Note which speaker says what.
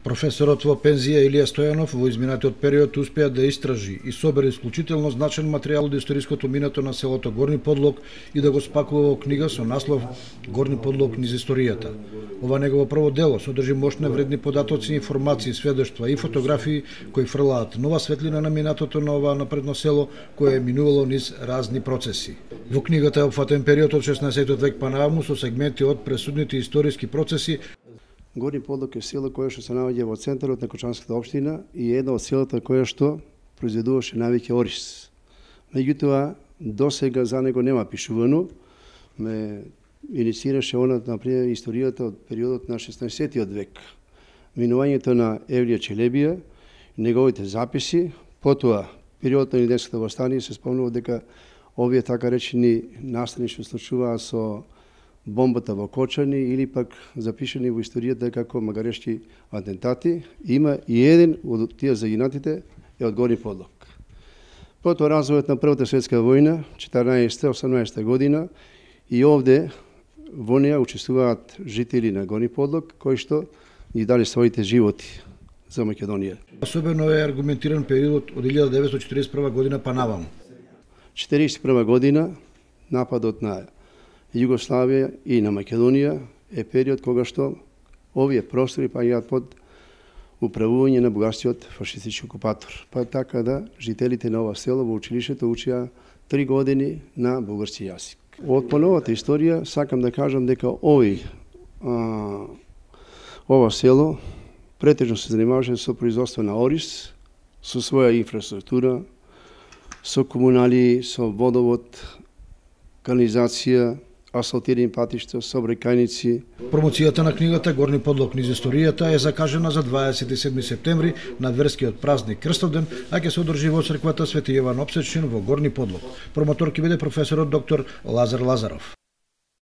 Speaker 1: Професорот во пензија Илија Стојанов во изминатиот период успеа да истражи и собере исклучително значен материјал од историското минато на селото Горни Подлог и да го спакува во книга со наслов Горни Подлог низ историјата. Ова негово прво дело содржи мощни вредни податоци, информации, сведоштва и фотографии кои фрлаат нова светлина на минатото на ова напредно село кое е минувало низ разни процеси. Во книгата е опфатен период од 16 век па наваму со сегменти од пресудните историски процеси.
Speaker 2: Горни Подлог е село кое што се наоѓа во центарот на Кочанската општина и е едно од селата кое што произведуваше највеќе ориз. Меѓутоа, досега за него нема пишувано. Ме инициираше онат, например, историјата од периодот на 16 век. Минувањето на Евлија Челебија, неговите записи, потоа периодот на Илијското востание се спомнува дека овие така речени настани што случуваа со бомбата во Кочани или пак запишани во историјата како магарешки атентати, има и еден од тие загинатите е од Горни Подлог. Потоа развојот на Првата светска војна, 14-18 година, и овде во неја учествуваат жители на Горни Подлог, кои што ги дали своите животи за Македонија.
Speaker 1: Особено е аргументиран периодот од 1941 година па наваму.
Speaker 2: 1941 година, нападот на Југославија и на Македонија е период кога што овие простори паѓаат под управување на бугарскиот фашистички окупатор. Па така да жителите на ова село во училиштето учеа 3 години на бугарски јазик. Од поновата историја сакам да кажам дека ова село претежно се занимаваше со производство на ориз, со своја инфраструктура, со комунали, со водовод, канализација, асфалтирани патишта, сообраќајници.
Speaker 1: Промоцијата на книгата Горни Подлог низ историјата е закажена за 27 септември на верскиот празник Крстовден, а ќе се одржи во црквата Свети Јован Опсечен во Горни Подлог. Промотор ќе биде професорот доктор Лазар Лазаров.